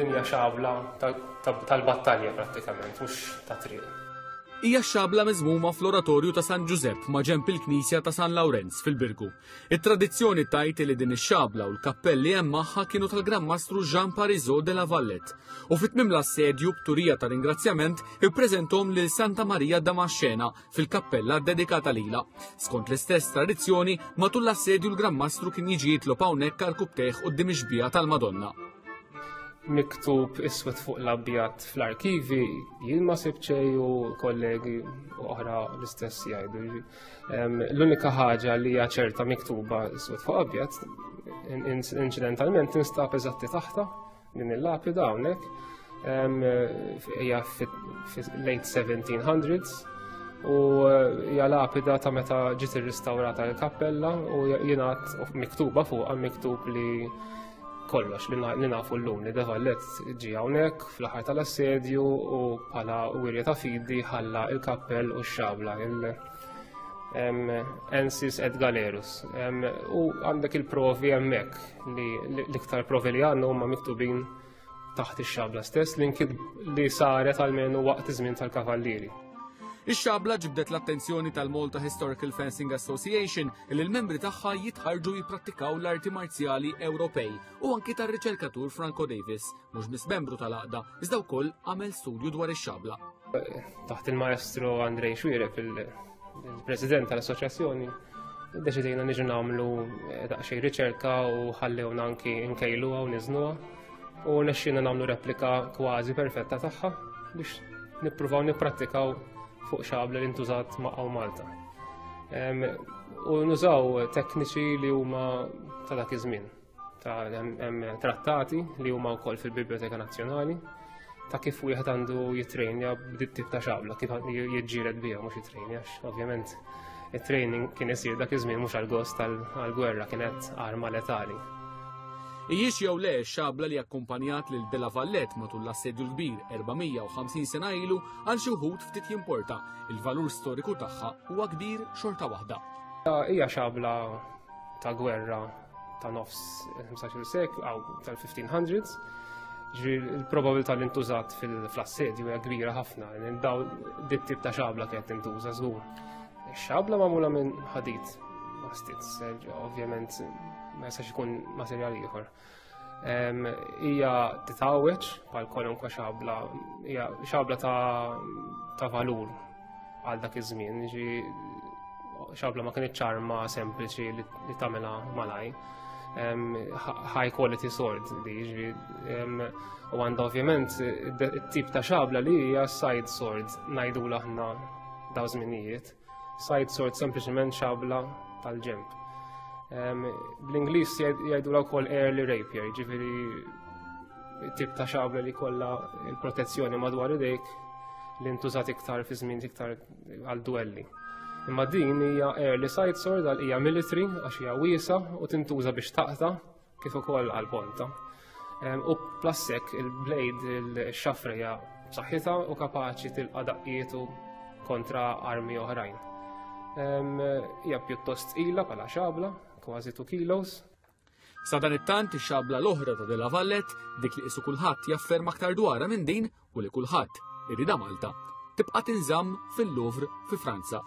Din hija xabla tal-battalja prattikament, mhux ta' triq. Hija x-xabla miżmuma fl-Oratorju ta' San Ġużepp ma' ġenb il-Knisja ta' San Lawrenz fil-Birgu. It-tradizzjoni tgħid li din ix-xabla u l-kappell li hemm magħha kienu tal-Gran Mastru Jean Parisot de la Valette u fi tmiem l-assedju b'turija ta' ringrazzjament ippreżenthom lil Santa Maria Damascena fil-kappella ddedikata lilha. Skont l-istess tradizzjoni, matul l-assedju l-Gran Mastru kien jiġi jitlob hawnhekk għal kubtejh quddiem ix-xbieha tal-Madonna. Miktub iswed fuq l-abjad fl-arkivi, jien ma sibt xejn u kollegi oħra l-istess jgħidu. L-unika ħaġa li hija ċerta miktuba iswed fuq abjad, inċidentalment tinstab eżatti taħta Din il-lapida hawnhekk hija late 1700s u eh, hija lapida ta' meta ġiet irristawrata l-kappella u jingħad miktuba fuqha miktub li kollox li nafu llum li De Vallet ġie hawnhekk fl-aħħar tal-assedju u bħala wirja ta' fidi ħalla il-kappell u x-xabla il Ensis et Galerus. U għandek il-provi hemmhekk li l-iktar provi li għandna huma miktubin taħt ix-xabla stess li nkid li saret għalmenu waqt iż-żmien tal-kavallieri. Ix-xabla ġibdet l-attenzjoni tal-Malta Historical Fencing Association li l-membri tagħha jitħarġu jipprattikaw l-arti marzjali Ewropej u anki tar-riċerkatur Franco Davis, mhux biss membru tal-għaqda, iżda wkoll għamel studju dwar ix-xabla. Taħt il-maestro Andrej Xwireb il-president tal-assoċjazzjoni, deċidejna niġu nagħmlu eh, daqsxejn riċerka u ħallewna anki nkejluha u niżnuha u nexxina nagħmlu replika kważi perfetta tagħha biex nippruvaw nipprattikaw fuq xabla li ntużat ma' Malta. U nużaw tekniċi li huma ta' dak iż-żmien. ta' hemm trattati li huma wkoll fil-Biblioteka Nazzjonali ta' kif wieħed għandu jitrejnja b'dit tip ta' xabla, kif jiġġieled biha mhux jitrejnja, ovvjament it-training kien isir dak iż-żmien mhux għall-gost għall-gwerra kienet arma letali. Ijiex jew le xabla li akkumpanjat lil De La Valette matul l-assedju l-kbir 450 sena ilu għal xi wħud ftit jimporta, il-valur storiku tagħha huwa kbir xorta waħda. Hija xabla ta' gwerra ta' nofs 15 seklu għaw tal-1500s, ġri l-probabilità li ntużat fil-assedju hija kbira ħafna, daw dit tip ta' xabla kienet tintuża żgur. Xabla magħmula minn ħadid, mastitz, ovvjament ma jistax ikun materjal ieħor. Hija titgħawweġ bħal kwalunkwe xabla, hija xabla ta' valur għal dak iż-żmien, ġi xabla ma kienx ċarma sempliċi li tagħmilha malaj. High quality sword li ġi u għandha ovvjament it-tip ta' xabla li hija side sword ngħidula aħna daw żminijiet. Side sword sempliċement xabla tal-ġemp. Bl-Ingliż jgħidula wkoll early rapier, ġifieri tip ta' xabla li kollha il-protezzjoni madwar idejk li ntużat iktar fi żmien iktar għal duelli. Imma din hija early side sword għal hija military għax hija wiesa u tintuża biex taqta' kif ukoll għal ponta. U plassek il-blade il-xafra hija b'saħħitha u kapaċi tilqa' daqqietu kontra armi oħrajn. Hija pjuttost tqila bħala xabla, kważi 2 kilos. Sadanittant ix-xabla l-oħra ta' De La Valette, dik li qisu kulħadd jafferma aktar dwarha minn din u li kulħadd iridha Malta, tibqa' tinżamm fil-Louvre fi Franza.